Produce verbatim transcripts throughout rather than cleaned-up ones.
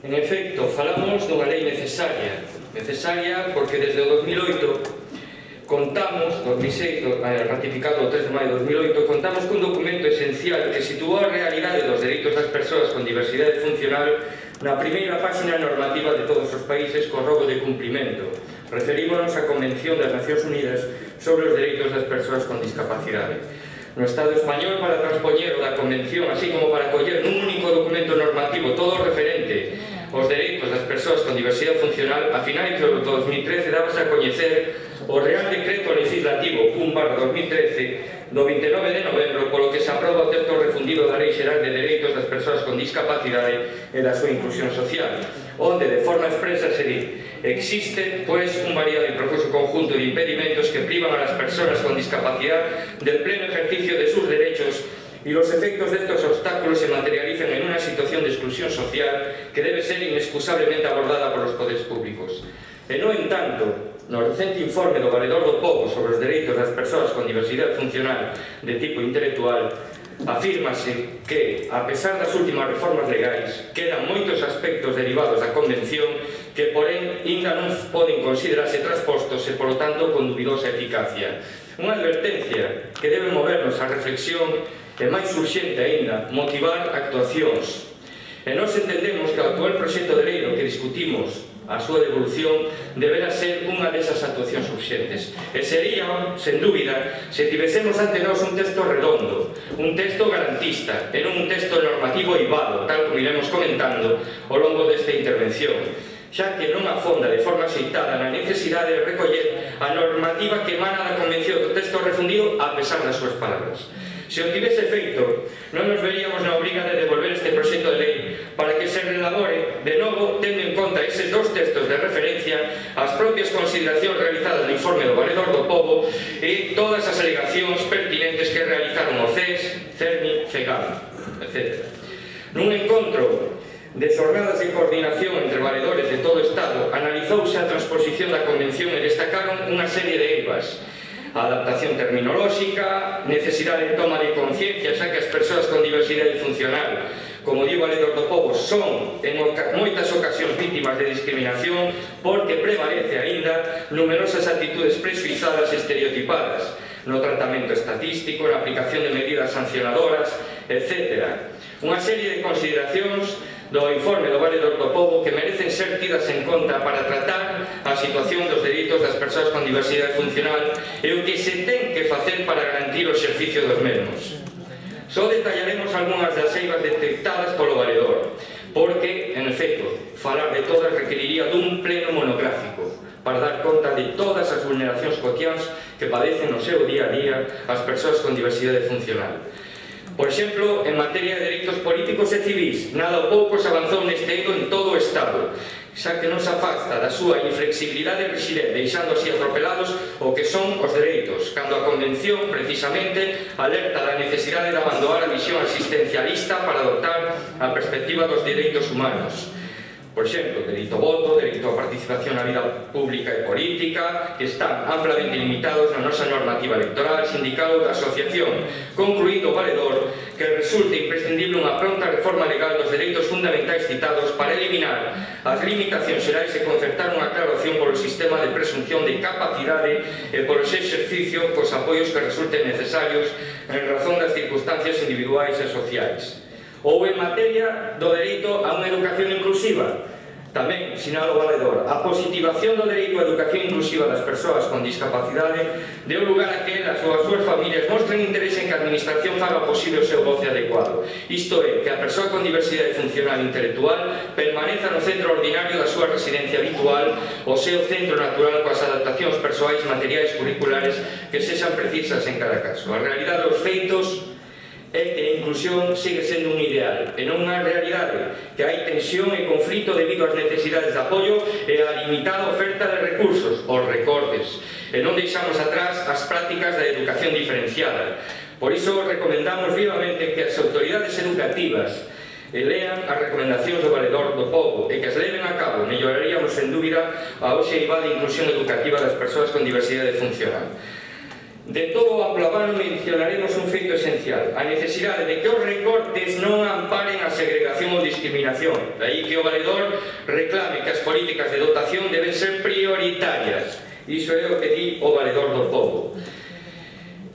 En efecto, falamos dunha lei necesaria, necesaria porque desde o dos mil oito contamos, dos mil seis, ratificado o tres de maio de dos mil oito, contamos cun documento esencial que situou a realidade dos dereitos das persoas con diversidade funcional na primeira página normativa de todos os países con rogo de cumprimento. Referímonos á Convención das Nacións Unidas sobre os Dereitos das Persoas con Discapacidade. No Estado español, para transpoñer o da Convención, así como para coller nun único documento normativo todo o referente aos dereitos das persoas con diversidade funcional, a finais do dos mil trece dábase a coñecer o Real Decreto Legislativo un barra dos mil trece do vinte e nove de novembro, polo que se aproba o texto refundido da Lei Xeral de Dereitos das Persoas con Discapacidade e da súa inclusión social, onde de forma expresa se di: existe, pois, un variado e profuso conjunto de impedimentos que privan a las personas con discapacidad del pleno ejercicio de sus derechos y los efectos de estos obstáculos se materializan en una situación de exclusión social que debe ser inexcusablemente abordada por los poderes públicos. E, no entanto, no recente informe do Valedor do Pobo sobre os dereitos das persoas con diversidade funcional de tipo intelectual, afírmase que, a pesar das últimas reformas legais, quedan moitos aspectos derivados da Convención que, porén, ainda non poden considerarse transpostos e, polo tanto, con dubidosa eficacia. Unha advertencia que debe movernos a reflexión e, máis urxente aínda, motivar actuacións. E nós entendemos que o actual proxecto de lei no que discutimos a súa devolución deberá ser unha desas actuacións urxentes. E sería, sen dúbida, se tivésemos ante nós un texto redondo, un texto garantista, e non un texto normativo eivado, tal como iremos comentando ao longo desta intervención, xa que non afonda de forma aceitada na necesidade de recoller a normativa que emana da Convención do texto refundido a pesar das súas palabras. Se o tivese feito, non nos veríamos na obriga de devolver este proxecto de lei para que se relabore de novo tendo en conta eses dos textos de referencia, as propias consideracións realizadas no informe do Valedor do Pobo e todas as alegacións pertinentes que realizaron o C E S, CERMI, FEGAM, etcétera. Nun encontro de xornadas de coordinación entre valedores de todo o Estado, analizouse a transposición da Convención e destacaron unha serie de eivas: adaptación terminolóxica, necesidade de toma de conciencia, xa que as persoas con diversidade funcional, como di o Valedor do Pobo, son en moitas ocasións vítimas de discriminación porque prevalece aínda numerosas actitudes presuizadas e estereotipadas no tratamento estatístico, na aplicación de medidas sancionadoras, etcétera. Unha serie de consideracións do informe do Valedor do Pobo que merecen ser tidas en conta para tratar a situación dos dereitos das persoas con diversidade funcional e o que se ten que facer para garantir o exercicio dos mesmos. Só detallaremos algunhas das eivas detectadas polo Valedor, porque, en efecto, falar de todas requeriría dun pleno monográfico para dar conta de todas as vulneracións cotiáns que padecen no seu día a día as persoas con diversidade funcional. Por exemplo, en materia de dereitos políticos e civís, nada ou pouco se avanzou neste eido en todo o Estado, xa que non se afasta da súa inflexibilidade rixidez, deixando así atropelados o que son os dereitos, cando a Convención, precisamente, alerta da necesidade de abandonar a visión asistencialista para adoptar a perspectiva dos dereitos humanos. Por exemplo, dereito ao voto, dereito á participación na vida pública e política, que están amplamente limitados na nosa normativa electoral, sindical ou da asociación, concluído o Valedor que resulta imprescindible unha pronta reforma legal dos dereitos fundamentais citados para eliminar as limitacións xerais e concertar unha clara opción polo sistema de presunción de capacidade e polo seu exercicio cos apoios que resulten necesarios en razón das circunstancias individuais e sociais. Ou en materia do dereito a unha educación inclusiva, tamén, sinala o Valedor, a positivación do dereito á educación inclusiva das persoas con discapacidade deu lugar a que elas ou as súas familias mostren interese en que a administración faga posible o seu goce adecuado. Isto é, que a persoa con diversidade funcional intelectual permaneza no centro ordinario da súa residencia habitual, o seu centro natural coas adaptacións persoais, materiais, curriculares que sexan precisas en cada caso. A realidade dos feitos é que a inclusión sigue sendo un ideal e non unha realidade, que hai tensión e conflito debido ás necesidades de apoio e á limitada oferta de recursos, os recortes, e non deixamos atrás as prácticas da educación diferenciada. Por iso recomendamos vivamente que as autoridades educativas lean as recomendacións do Valedor do Pobo e que as leven a cabo. Melloraríamos, sen dúbida, a hoxe eivada inclusión educativa das persoas con diversidade funcional. De todo o amplo abano mencionaremos un feito esencial: a necesidade de que os recortes non amparen a segregación ou discriminación. De aí que o valedor reclame que as políticas de dotación deben ser prioritarias. Iso é o que di o valedor do povo.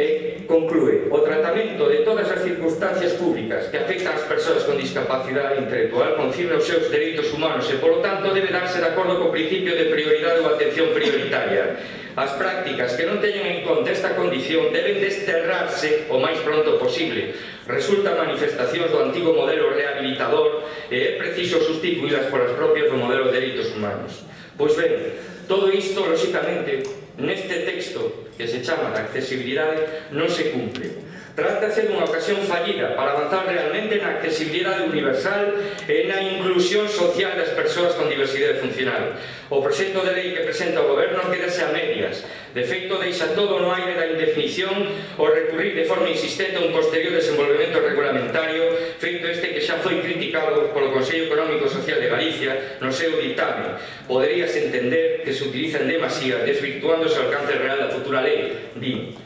E conclúe: o tratamento de todas as circunstancias públicas que afectan as persoas con discapacidade intelectual concirne os seus dereitos humanos e, polo tanto, debe darse de acordo co principio de prioridade ou atención prioritaria. As prácticas que non teñen en conta esta condición deben desterrarse o máis pronto posible. Resultan manifestacións do antigo modelo rehabilitador e é preciso sustituílas polas propias do modelo de dereitos humanos. Pois ben, todo isto, lóxicamente, neste texto que se chama da accesibilidade non se cumpre. Trátase dunha ocasión fallida para avanzar realmente na accesibilidade universal e na inclusión social das persoas con diversidade funcional. O proxecto de lei que presenta o Goberno quedase a medias. De feito, deixa todo no aire da indefinición o recurrir de forma insistente a un posterior desenvolvemento regulamentario, feito este que xa foi criticado polo Consello Económico e Social de Galicia no seu ditame. Poderíase entender que se utiliza en demasía, desvirtuándose o alcance real da futura lei, din.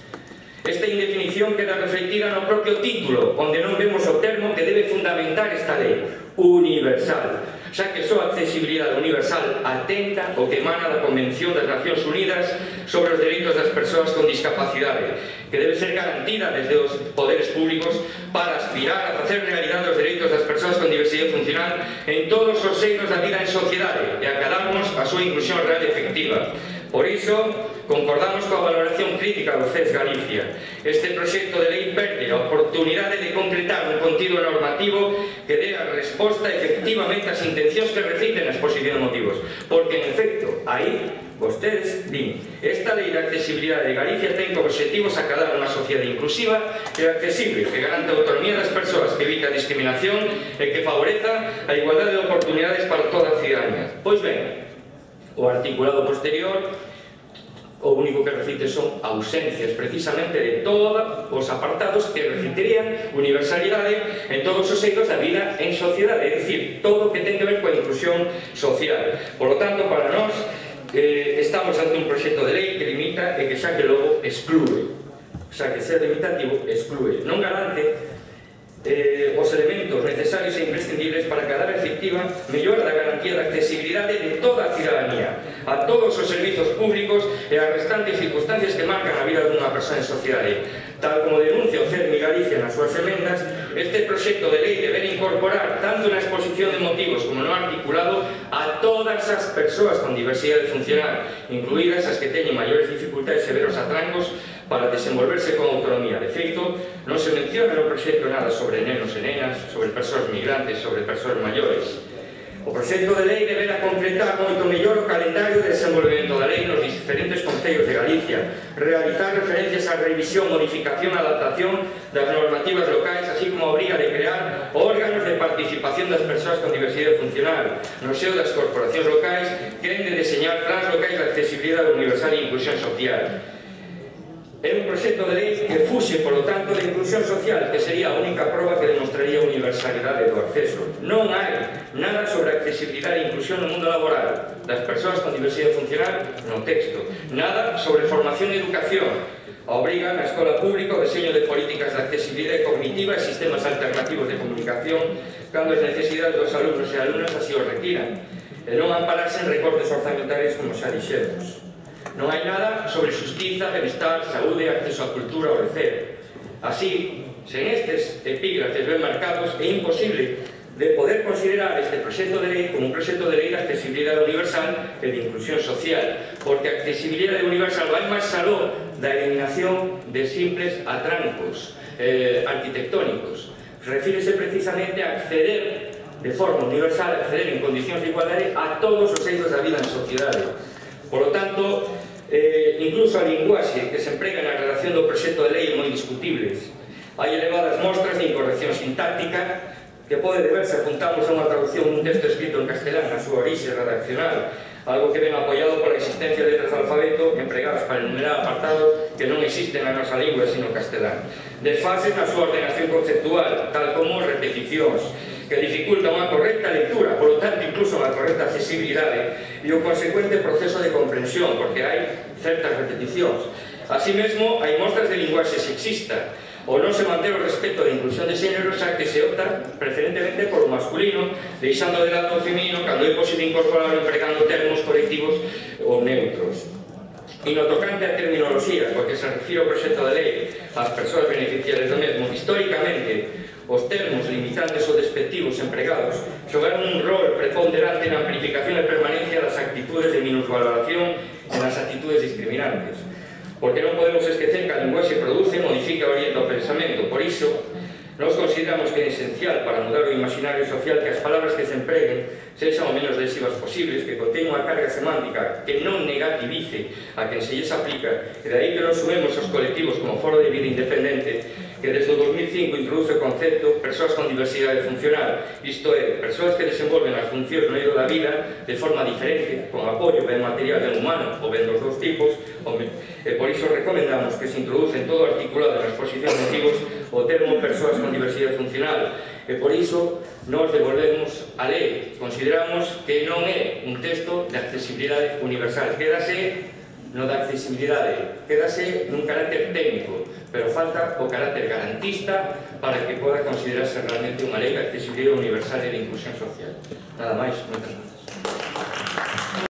Esta indefinición queda reflectida no propio título, onde non vemos o termo que debe fundamentar esta lei: universal, xa que só a accesibilidade universal atenta o que emana da Convención das Nacións Unidas sobre os dereitos das persoas con discapacidade, que debe ser garantida desde os poderes públicos para aspirar a facer realidade os dereitos das persoas con diversidade funcional en todos os seios da vida en sociedade e acadarnos a súa inclusión real e efectiva. Por iso, concordamos coa valoración crítica do C E S Galicia. Este proxecto de lei perde a oportunidade de concretar un contido normativo que dé a resposta efectivamente ás intencións que reciten na exposición de motivos, porque, en efecto, aí vostedes din: esta lei de accesibilidade de Galicia ten como obxectivo acadar unha sociedade inclusiva e accesible, que garante a autonomía das persoas, que evita a discriminación e que favoreza a igualdade de oportunidades para toda a cidadanía. Pois ben, o articulado posterior o único que recite son ausencias precisamente de todos os apartados que reciterían universalidade en todos os eidos da vida en sociedade, é dicir, todo o que ten que ver coa inclusión social. Por lo tanto, para nós, eh, estamos ante un proxecto de lei que limita e que xa que logo exclúe, xa que ser limitativo exclúe, non garante Eh, os elementos necesarios e imprescindibles para que a efectiva mellora da garantía da accesibilidade de toda a cidadanía, a todos os servizos públicos e as restantes circunstancias que marcan a vida dunha persoa en sociedade. Tal como denuncia o C E R M Galicia nas súas emendas, este proxecto de lei debe incorporar tanto na exposición de motivos como no articulado a todas as persoas con diversidade funcional, incluídas as que teñen maiores dificultades e severos atrancos para desenvolverse con autonomía. De feito, non se menciona no proxecto nada sobre nenos e nenas, sobre persoas migrantes, sobre persoas maiores. O proxecto de lei deberá concretar moito mellor o calendario de desenvolvemento da lei nos diferentes concellos de Galicia, realizar referencias á revisión, modificación e adaptación das normativas locais, así como a obriga de crear órganos de participación das persoas con diversidade funcional. No seo das corporacións locais, que han de deseñar plans locais de accesibilidade universal e inclusión social. É un proxecto de lei que fuxe, polo tanto, de inclusión social, que sería a única proba que demostraría a universalidade do acceso. Non hai nada sobre accesibilidade e inclusión no mundo laboral das persoas con diversidade funcional no texto. Nada sobre formación e educación. Obriga na escola pública o deseño de políticas de accesibilidade cognitiva e sistemas alternativos de comunicación cando as necesidades dos alumnos e alumnas así o requiran. E non ampararse en recortes orzamentarios como xa dixemos. Non hai nada sobre xustiza, benestar, saúde, acceso á cultura ou lecer. Así, sen estes epígrafes ben marcados, é imposible de poder considerar este proxecto de lei como un proxecto de lei de accesibilidade universal e de inclusión social, porque a accesibilidade universal vai máis aló da eliminación de simples atrancos eh, arquitectónicos. Refírese precisamente a acceder de forma universal, a acceder en condicións de igualdade a todos os eidos da vida en sociedade. Por lo tanto, eh, incluso a linguaxe que se emprega na redacción do proxecto de lei é moi discutibles. Hai elevadas mostras de incorrección sintáctica que pode deberse, apuntamos a unha traducción dun texto escrito en castelán na súa orixe redaccional, algo que ven apoiado pola existencia de letras de alfabeto empregadas para enumerar apartados que non existen na nosa lingua sino castelán. Desfases na súa ordenación conceptual, tal como repeticións, que dificulta unha correcta lectura, polo tanto, incluso unha correcta accesibilidade e o consecuente proceso de comprensión, porque hai certas repeticións. Así mesmo, hai mostras de linguaxe sexista, ou non se mantén o respeto da inclusión de xénero, xa que se opta preferentemente por o masculino, deixando de lado o feminino cando é posible incorporar empregando termos colectivos ou neutros. E no tocante a terminoloxía, porque se refire ao proxecto de lei ás persoas beneficiarias do mesmo, históricamente, os termos limitantes ou despectivos empregados xogaron un rol preponderante na amplificación e permanencia das actitudes de minusvaloración e nas actitudes discriminantes. Porque non podemos esquecer que a linguaxe produce e modifica o oriente ao pensamento. Por iso, nós consideramos que é esencial para mudar o imaginario social que as palabras que se empreguen sexan o menos lesivas posibles, que conteñen unha carga semántica que non negativice a quen se lles aplica, e de aí que nos sumemos aos colectivos como Foro de Vida Independente, que desde o dos mil cinco introduce o concepto persoas con diversidade funcional, isto é, persoas que desenvolven as funcións no eido da vida de forma diferente, con apoio ben material ben humano ou ben dos dous tipos, e por iso recomendamos que se introduce en todo o articulado na exposición de motivos o termo persoas con diversidade funcional, e por iso nos devolvemos a lei. Consideramos que non é un texto de accesibilidade universal, quédase no da accesibilidade, quédase nun carácter técnico, pero falta o carácter garantista para que poda considerarse realmente unha lei de accesibilidade universal e de inclusión social. Nada máis, moitas grazas.